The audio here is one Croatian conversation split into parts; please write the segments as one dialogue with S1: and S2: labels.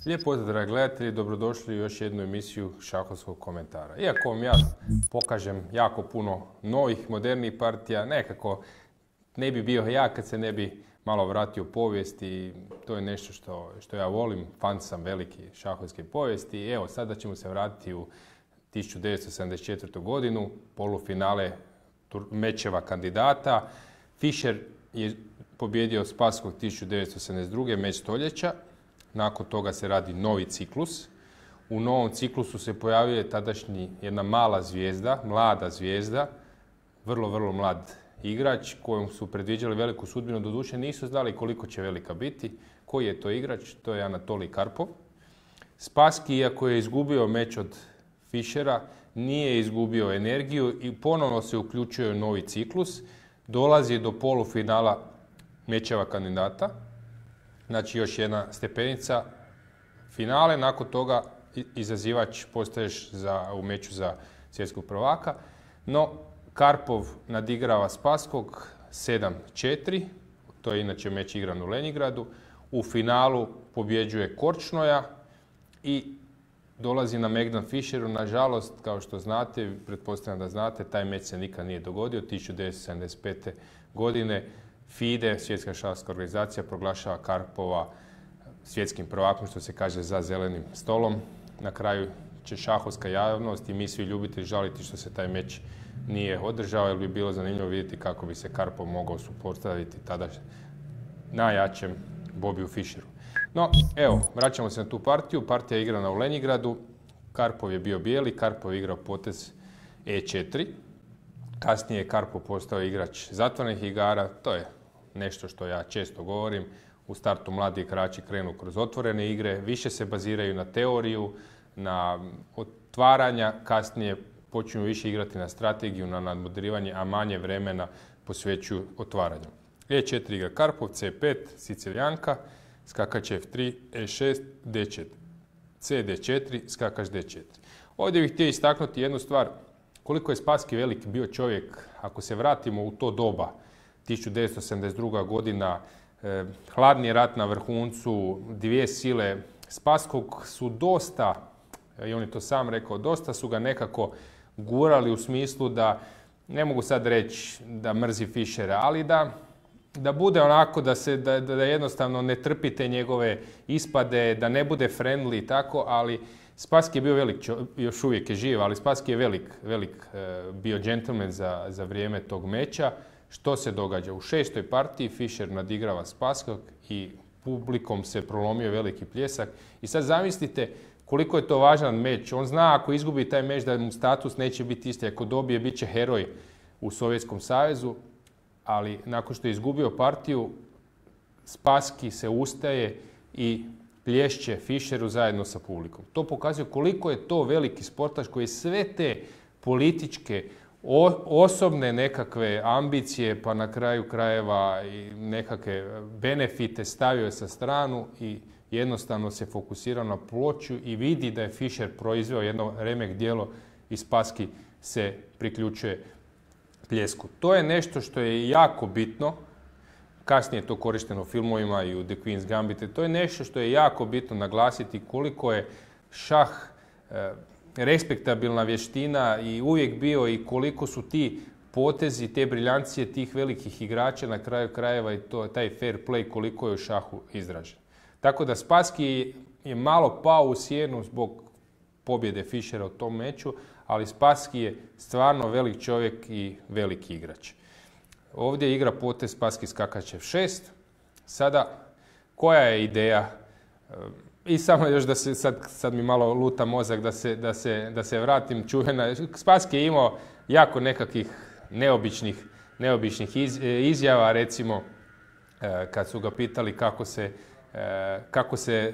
S1: Lijep pozdrav, dragi gledatelji, dobrodošli u još jednu emisiju šahovskog komentara. Iako vam ja pokažem jako puno novih, modernijih partija, nekako ne bi bio ja kad se ne bi malo vratio u povijest i to je nešto što ja volim, fan sam veliki šahovske povijesti. I evo, sada ćemo se vratiti u 1974. godinu, polufinale mečeva kandidata. Fischer je pobjedio Spasskog 1972. meč stoljeća. Nakon toga se radi novi ciklus. U novom ciklusu se pojavljuje tadašnji jedna mala zvijezda, mlada zvijezda, vrlo mlad igrač kojom su predviđali veliku sudbinu. Doduše nisu znali koliko će velika biti. Koji je to igrač? To je Anatolij Karpov. Spasski, iako je izgubio meč od Fischera, nije izgubio energiju i ponovno se uključuje u novi ciklus. Dolazi do polufinala mečeva kandidata. Znači još jedna stepenica finale, nakon toga izazivač postaješ u meču za svjetskog prvaka. No, Karpov nadigrava Spasskog 7-4, to je inače meč igran u Lenjingradu. U finalu pobjeđuje Korčnoja i dolazi na Megdan Fischeru. Nažalost, kao što znate, pretpostavljam da znate, taj meč se nikad nije dogodio. 1975. godine FIDE, Svjetska šahovska organizacija, proglašava Karpova svjetskim prvakom, što se kaže, za zelenim stolom. Na kraju će šahovska javnost i mi svi ljubitelji žaliti što se taj meč nije održao, jer bi bilo zanimljivo vidjeti kako bi se Karpov mogao suprotstaviti tada najjačem Bobiju Fischeru. No, evo, vraćamo se na tu partiju. Partija je igrana u Lenjingradu. Karpov je bio bijeli, Karpov je igrao potez E4. Kasnije je Karpov postao igrač zatvorenih igara. To je nešto što ja često govorim. U startu mladi igrači krenu kroz otvorene igre, više se baziraju na teoriju, na otvaranja, kasnije počinju više igrati na strategiju, na nadmudrivanje, a manje vremena posvećuju otvaranju. E4 igra Karpov, C5, Sicilijanka, skakač F3, E6, D4, CD4, skakač D4. Ovdje bih htio istaknuti jednu stvar. Koliko je Spasski velik bio čovjek, ako se vratimo u to doba, 1972. godina, hladni rat na vrhuncu, dvije sile Spasskog su dosta, i on je to sam rekao, dosta su ga nekako gurali u smislu da, ne mogu sad reći da mrzi Fischera, ali da bude onako, da jednostavno ne trpite njegove ispade, da ne bude friendly i tako, ali Spasski je bio velik, još uvijek je živ, ali Spasski je velik bio džentlmen za vrijeme tog meča. Što se događa? U šestoj partiji Fischer nadigrava Spasskog i publikom se prolomio veliki pljesak. I sad zamislite koliko je to važan meč. On zna ako izgubi taj meč da mu status neće biti isti. Ako dobije, bit će heroj u Sovjetskom savezu. Ali nakon što je izgubio partiju, Spasski se ustaje i plješće Fischeru zajedno sa publikom. To pokazuje koliko je to veliki sportaš koji sve te političke, osobne nekakve ambicije, pa na kraju krajeva i nekakve benefite stavio sa stranu i jednostavno se fokusirao na ploču i vidi da je Fischer proizveo jedno remek djelo i Spasski se priključuje pljesku. To je nešto što je jako bitno. Kasnije je to korišteno u filmovima i u The Queen's Gambit. To je nešto što je jako bitno naglasiti koliko je šah respektabilna vještina i uvijek bio i koliko su ti potezi, te briljancije tih velikih igrača na kraju krajeva i taj fair play koliko je u šahu izražen. Tako da Spasski je malo pao u sjenu zbog pobjede Fischera u tom meču, ali Spasski je stvarno velik čovjek i veliki igrač. Ovdje igra potez Spasski skakač F6. Sada, koja je ideja? I samo još da se, sad mi malo luta mozak da se vratim čuvena. Spasski je imao jako nekakvih neobičnih izjava, recimo kad su ga pitali kako se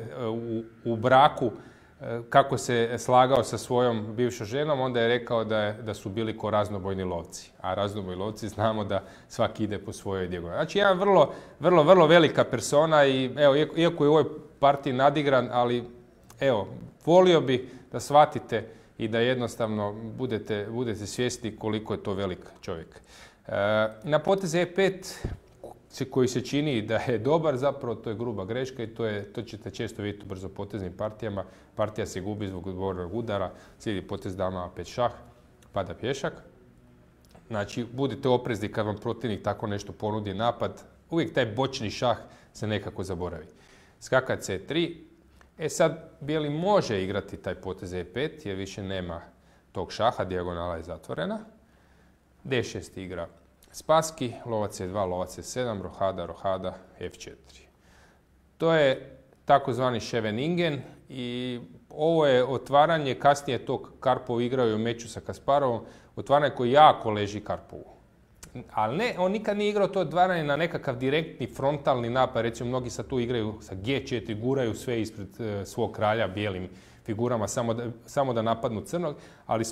S1: u braku, kako se slagao sa svojom bivšom ženom, onda je rekao da su bili ko raznobojni lovci. A raznobojni lovci znamo da svaki ide po svojoj dijagonali. Znači, jedan vrlo velika persona i evo, iako je u ovoj partiji nadigran, ali evo, volio bi da shvatite i da jednostavno budete svjesni koliko je to velik čovjek. Na potez E5 koji se čini da je dobar, zapravo to je gruba greška i to ćete često vidjeti u brzopoteznim partijama. Partija se gubi zbog odgovornog udara, slijedi potez dama A5 šah, pada pješak. Znači, budite oprezni kad vam protivnik tako nešto ponudi napad. Uvijek taj bočni šah se nekako zaboravi. Skaka C3. Sad, bijeli može igrati taj potez E5 jer više nema tog šaha, dijagonala je zatvorena. D6 igra Spassky, lovac C2, lovac C7, rohada, F4. To je takozvani Scheveningen i ovo je otvaranje, kasnije tog Karpov igrao i u meču sa Kasparovom, otvaranje koji jako leži Karpovu. Ali ne, on nikad nije igrao to otvaranje na nekakav direktni frontalni napad, recimo mnogi sad tu igraju sa G4, guraju sve ispred svog kralja bijelim figurama samo da napadnu crnog, ali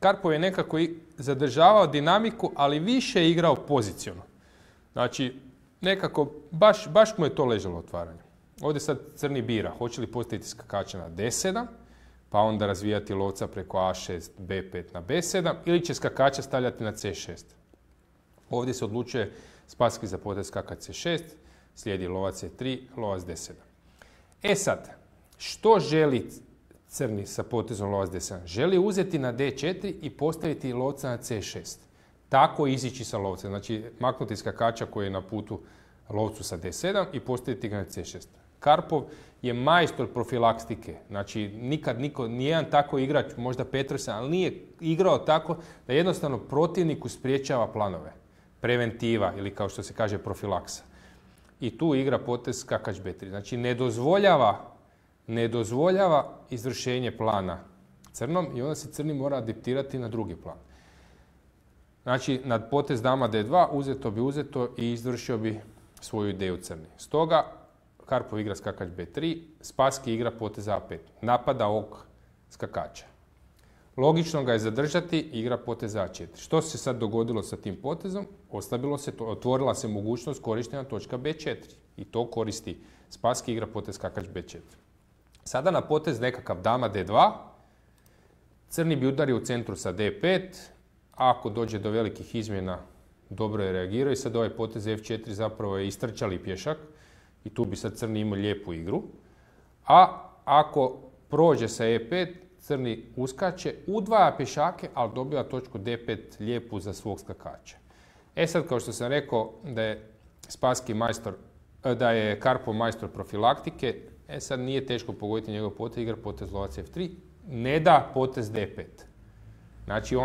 S1: Karpov je nekako zadržavao dinamiku, ali više igrao poziciono. Znači, nekako, baš mu je to ležalo otvaranje. Ovdje sad crni bira, hoće li postaviti skakača na D7, pa onda razvijati lovca preko A6, B5 na B7, ili će skakača stavljati na C6. Ovdje se odlučuje Spassky za potez skakač C6, slijedi lovac C3, lovac D7. Sad, što želi crni sa potezom lovac D7? Želi uzeti na D4 i postaviti lovca na C6. Tako izići sa lovcem. Znači, maknuti skakača koji je na putu lovcu sa D7 i postaviti ga na C6. Karpov je majstor profilaktike. Znači, nikad nijedan tako igrač, možda Petersen, ali nije igrao tako da jednostavno protivniku spriječava planove. Preventiva ili kao što se kaže profilaksa. I tu igra potez skakač B3. Znači, ne dozvoljava izvršenje plana crnom i onda se crni mora adaptirati na drugi plan. Znači, nad potez dama D2 uzeto i izvršio bi svoju ideju crni. Stoga, Karpov igra skakač B3, Spassky igra potez A5. Napada ovog skakača. Logično ga je zadržati i igra potez A4. Što se sad dogodilo sa tim potezom? Otvorila se mogućnost korištenja točka B4. I to koristi Spassky igra potez skakač B4. Sada na potez nekakav dama D2, crni bi udario u centru sa D5, a ako dođe do velikih izmjena, dobro je reagirao i sad ovaj potez F4 zapravo je istrčali pješak i tu bi sad crni imao lijepu igru. A ako prođe sa E5, crni uskače, udvaja pješake, ali dobiva točku D5 lijepu za svog skakača. Sad, kao što sam rekao, da je Karpov majstor profilaktike, sad nije teško pogoditi njegov potez, igra potez lovac F3, ne da potez D5. Znači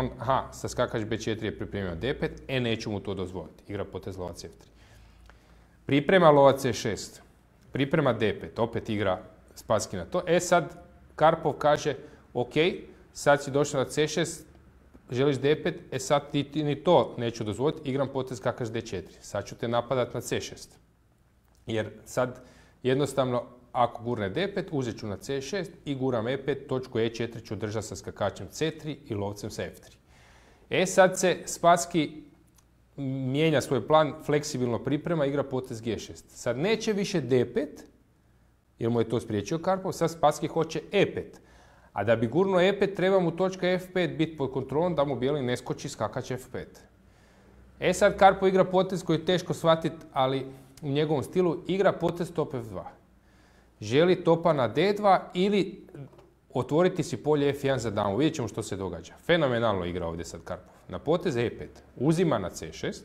S1: sa skakač B4 je pripremio D5, neću mu to dozvoliti, igra potez lovac F3. Priprema lovac C6, priprema D5, opet igra Spassky na to. Sad Karpov kaže, ok, sad si došao na C6, želiš D5, sad ti ni to neću dozvoliti, igram potez skakač D4. Sad ću te napadat na C6. Jer sad jednostavno, ako gurne D5, uzet ću na C6 i guram E5, točku E4 ću držati sa skakačem C3 i lovcem sa F3. Sad se Spassky mijenja svoj plan, fleksibilno priprema, igra potez G6. Sad neće više D5, jer mu je to spriječio Karpov, sad Spassky hoće E5. A da bi gurnuo E5, treba mu točka F5 biti pod kontrolom da mu bijeli ne skoči skakač F5. Sad Karpov igra potez koji je teško shvatiti, ali u njegovom stilu igra potez top F2. Želi topa na D2 ili otvoriti si polje F1 za damu. Vidjet ćemo što se događa. Fenomenalno igra ovdje sad Karpov. Na potez E5 uzima na C6.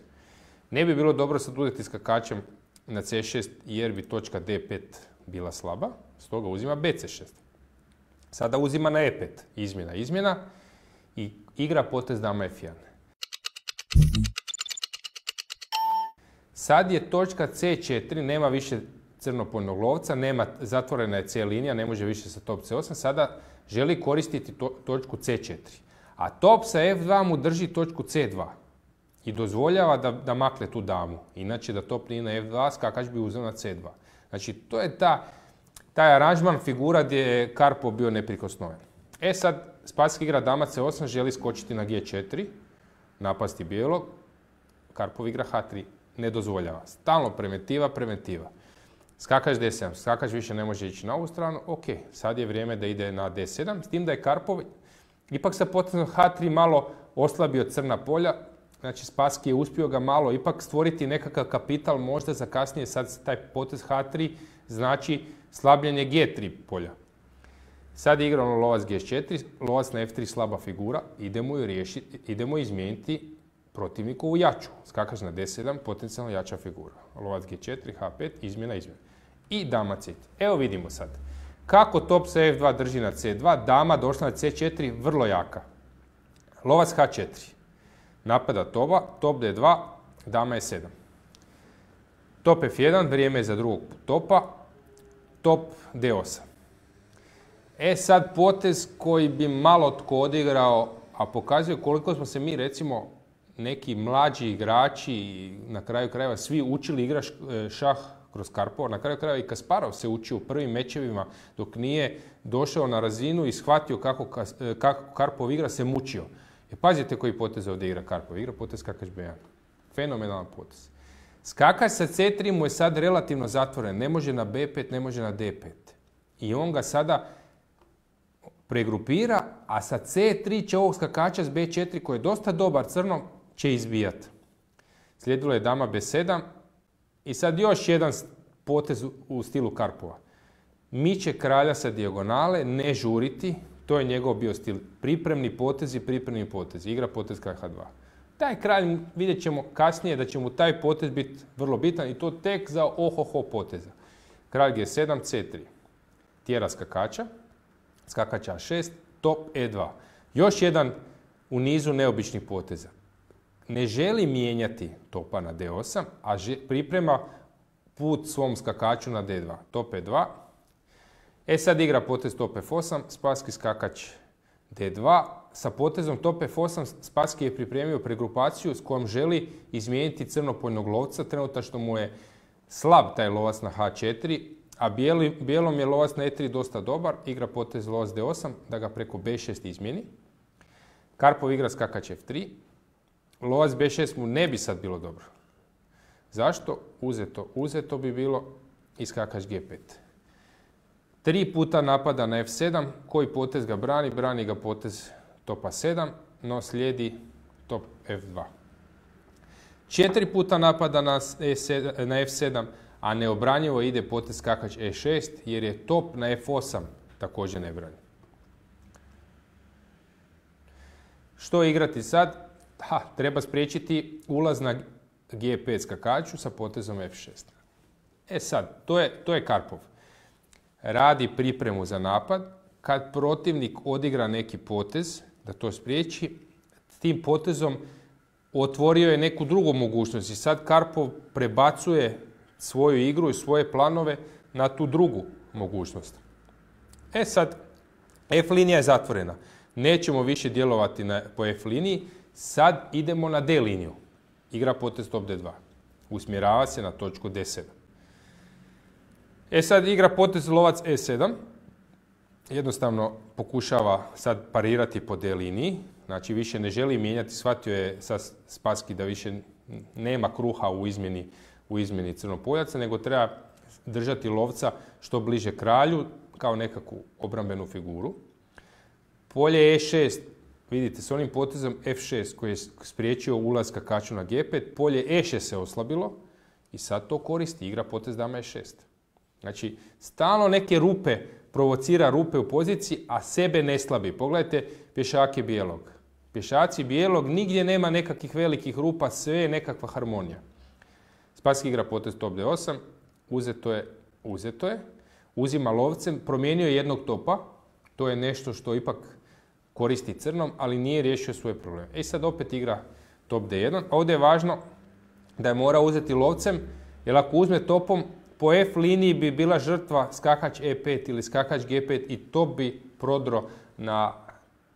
S1: Ne bi bilo dobro sad udjeti skakačem na C6 jer bi točka D5 bila slaba. Stoga uzima BC6. Sada uzima na E5. Izmjena i igra potez dama F1. Sad je točka C4, nema više crnopojnog lovca, zatvorena je C linija, ne može više sa top C8, sada želi koristiti točku C4. A top sa F2 mu drži točku C2 i dozvoljava da makne tu damu. Inače da top nije na F2, skakač bi uzeo na C2. Znači to je taj aranžman figura gdje je Karpov bio neprikosnoven. Sad Spassky igra dama C8, želi skočiti na G4, napasti bijelog, Karpov igra H3, ne dozvoljava. Stalno preventiva. Skakač D7, skakač više ne može ići na ovu stranu, ok, sad je vrijeme da ide na D7, s tim da je Karpov Ipak sa potezom H3 malo oslabio crna polja, znači Spassky je uspio ga malo ipak stvoriti nekakav kapital možda za kasnije, sad taj potez H3 znači slabljenje G3 polja. Sad je igrano lovac G4, lovac na F3 slaba figura, idemo izmijeniti protivnikovu jaču. Skakač na D7, potencijalno jača figura. Lovac G4, H5, izmjena. I dama C3. Evo vidimo sad. Kako top sa F2 drži na C2, dama došla na C4, vrlo jaka. Lovac H4. Napada topa, top D2, dama E7. Top F1, vrijeme je za drugog topa, top D8. Sad potez koji bi malo tko odigrao, a pokazuje koliko smo se mi, recimo, neki mlađi igrači, na kraju krajeva svi učili igrati šah kroz Karpova. Na kraju krajeva i Kasparov se učio u prvim mečevima dok nije došao na razinu i shvatio kako Karpov igra, se mučio. Pazite koji potez ovdje igra Karpov. Igra potez skakač B1. Fenomenalan potez. Skakač sa C3 mu je sad relativno zatvoren. Ne može na B5, ne može na D5. I on ga sada pregrupira, a sa C3 će ovog skakača s B4 koji je dosta dobar crnom će izbijati. Slijedilo je dama B7 i sad još jedan potez u stilu Karpova. Miče kralja sa dijagonale, ne žuriti, to je njegov bio stil. Pripremni potezi, igra potez kralj H2. Taj kralj vidjet ćemo kasnije da će mu taj potez biti vrlo bitan i to tek za ohoho poteza. Kralj G7, C3. Tjera skakača. Skakač A6, top E2. Još jedan u nizu neobičnih poteza. Ne želi mijenjati topa na D8, a priprema put svom skakaču na D2. Top E2. Sad igra potez top F8, Spassky skakač D2. Sa potezom top F8 Spassky je pripremio pregrupaciju s kojom želi izmijeniti crnopoljnog lovca. Trenutačno mu je slab taj lovac na H4, a bijelom je lovac na E3 dosta dobar, igra potez lovac D8, da ga preko B6 izmijeni. Karpov igra skakač F3, lovac B6 mu ne bi sad bilo dobro. Zašto? Uzeto bi bilo i skakač G5. 3 puta napada na F7, koji potez ga brani? Brani ga potez topa 7, no slijedi top F2. 4 puta napada na F7, a neobranjivo ide potez skakač E6, jer je top na F8 također nebranjiv. Što igrati sad? Treba spriječiti ulaz na G5 skakaču sa potezom F6. Sad, to je Karpov. Radi pripremu za napad. Kad protivnik odigra neki potez, da to spriječi, tim potezom otvorio je neku drugu mogućnost i sad Karpov prebacuje svoju igru i svoje planove na tu drugu mogućnost. Sad, F linija je zatvorena. Nećemo više djelovati po F liniji, sad idemo na D liniju. Igra potez top D2. Usmjerava se na točku D7. Sad igra potez lovac E7. Jednostavno pokušava sad parirati po D liniji. Znači više ne želi mijenjati, shvatio je sad Spassky da više nema kruha u izmjeni crnopoljaca, nego treba držati lovca što bliže kralju, kao nekakvu obrambenu figuru. Polje E6, vidite, s onim potezom F6 koji je spriječio ulaz skakaču na G5, polje E6 se oslabilo i sad to koristi, igra potez dama E6. Znači, stalno neke rupe, provocira rupe u poziciji, a sebe ne slabi. Pogledajte pješake bijelog. Pješaci bijelog, nigdje nema nekakvih velikih rupa, sve je nekakva harmonija. Spassky igra potez top D8, uzeto je, uzima lovcem, promijenio je jednog topa, to je nešto što ipak koristi crnom, ali nije riješio svoje probleme. Sad opet igra top D1, ovdje je važno da je mora uzeti lovcem, jer ako uzme topom, po F liniji bi bila žrtva skakač E5 ili skakač G5 i top bi prodro na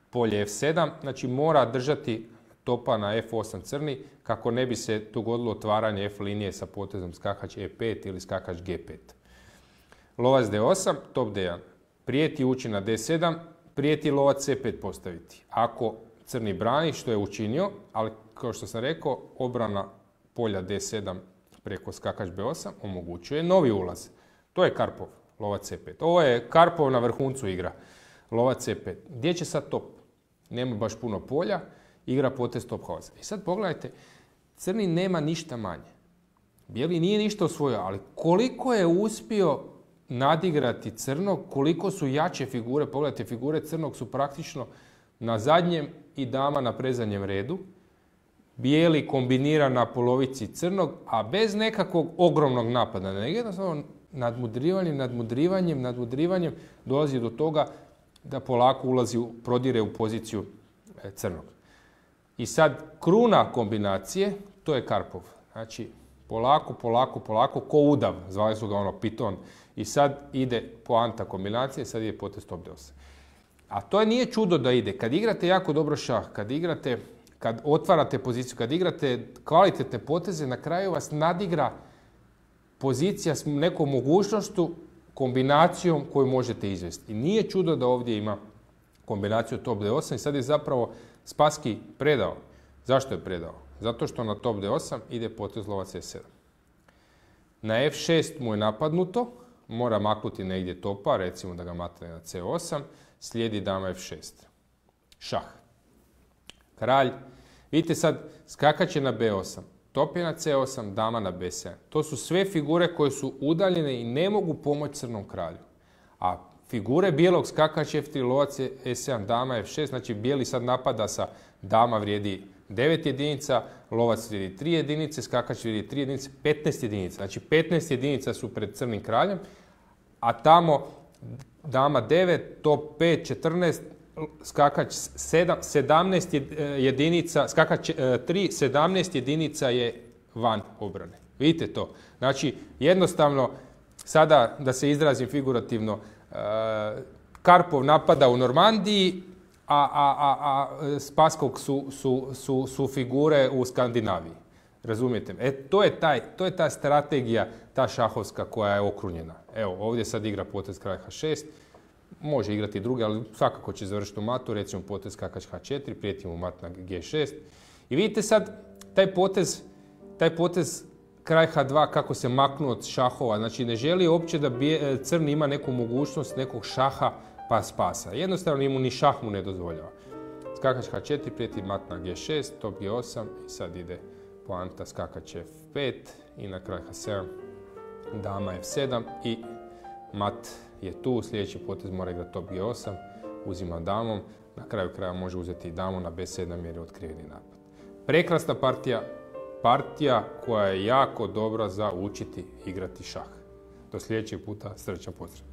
S1: polje F7, znači mora držati topa na F8 crni kako ne bi se dogodilo otvaranje F linije sa potezom skakač E5 ili skakač G5. Lovac D8, top D1. Prijeti ući na D7, prijeti lovac C5 postaviti. Ako crni brani, što je učinio, ali kao što sam rekao, obrana polja D7 preko skakač B8 omogućuje novi ulaz. To je Karpov, lovac C5. Ovo je Karpov na vrhuncu igra, lovac C5. Gdje će sad top? nema baš puno polja, igra potez top haosa. I sad pogledajte, crni nema ništa manje. Bijeli nije ništa osvojio, ali koliko je uspio nadigrati crnog, koliko su jače figure, pogledajte, figure crnog su praktično na zadnjem i dama na predzadnjem redu. Bijeli kombinira na polovici crnog, a bez nekakvog ogromnog napada. Nego jednostavno nadmudrivanjem dolazi do toga da polako prodire u poziciju crnog. I sad kruna kombinacije, to je Karpov. Znači, polako, ko udav, zvali su ga piton. I sad ide poanta kombinacije, sad je potez top d8. A to nije čudo da ide. Kad igrate jako dobro šah, kad otvarate poziciju, kad igrate kvalitetne poteze, na kraju vas nadigra pozicija s nekom mogućnošću, kombinacijom koju možete izvesti. I nije čudo da ovdje ima kombinaciju top d8 i sad je zapravo Spassky predao. Zašto je predao? Zato što na top d8 ide potez lova c7. Na f6 mu je napadnuto, mora maknuti negdje topa, recimo da ga matne na c8, slijedi dama f6. Šah. Kralj. Vidite sad, skakat će na b8. Top je na c8, dama na b7. To su sve figure koje su udaljene i ne mogu pomoći crnom kralju. A figure bijelog skakač f3, lovac e7, dama f6, znači bijeli sad napada sa dama vrijedi 9 jedinica, lovac vrijedi 3 jedinice, skakač vrijedi 3 jedinice, 15 jedinica. Znači 15 jedinica su pred crnim kraljem, a tamo dama 9, top 5, 14, skakač 17 jedinica, skakač 3, 17 jedinica je van obrane. Vidite to? Znači, jednostavno, sada da se izrazim figurativno, Karpov napada u Normandiji, a Spasskog su figure u Skandinaviji. Razumijete? To je ta strategija, ta šahovska koja je okrunjena. Evo, ovdje sad igra potez kralj h6, može igrati drugi, ali svakako će završiti u matu, recimo potez skakač h4, prijeti mu mat na g6. I vidite sad taj potez kralj h2 kako se maknu od šahova. Znači ne želi uopće da crni ima neku mogućnost nekog šaha pa spasa. Jednostavno ni šah mu ne dozvoljava. Skakač h4, prijeti mat na g6, top g8 i sad ide poanta skakač f5 i na kraj h7 dama f7 i mat je tu, sljedeći potez mora igrati top g8, uzima damom, na kraju kraja može uzeti i damu na b7 jer je otkriveni napad. Prekrasna partija koja je jako dobra za učiti igrati šah. Do sljedećeg puta, srećan pozdrav!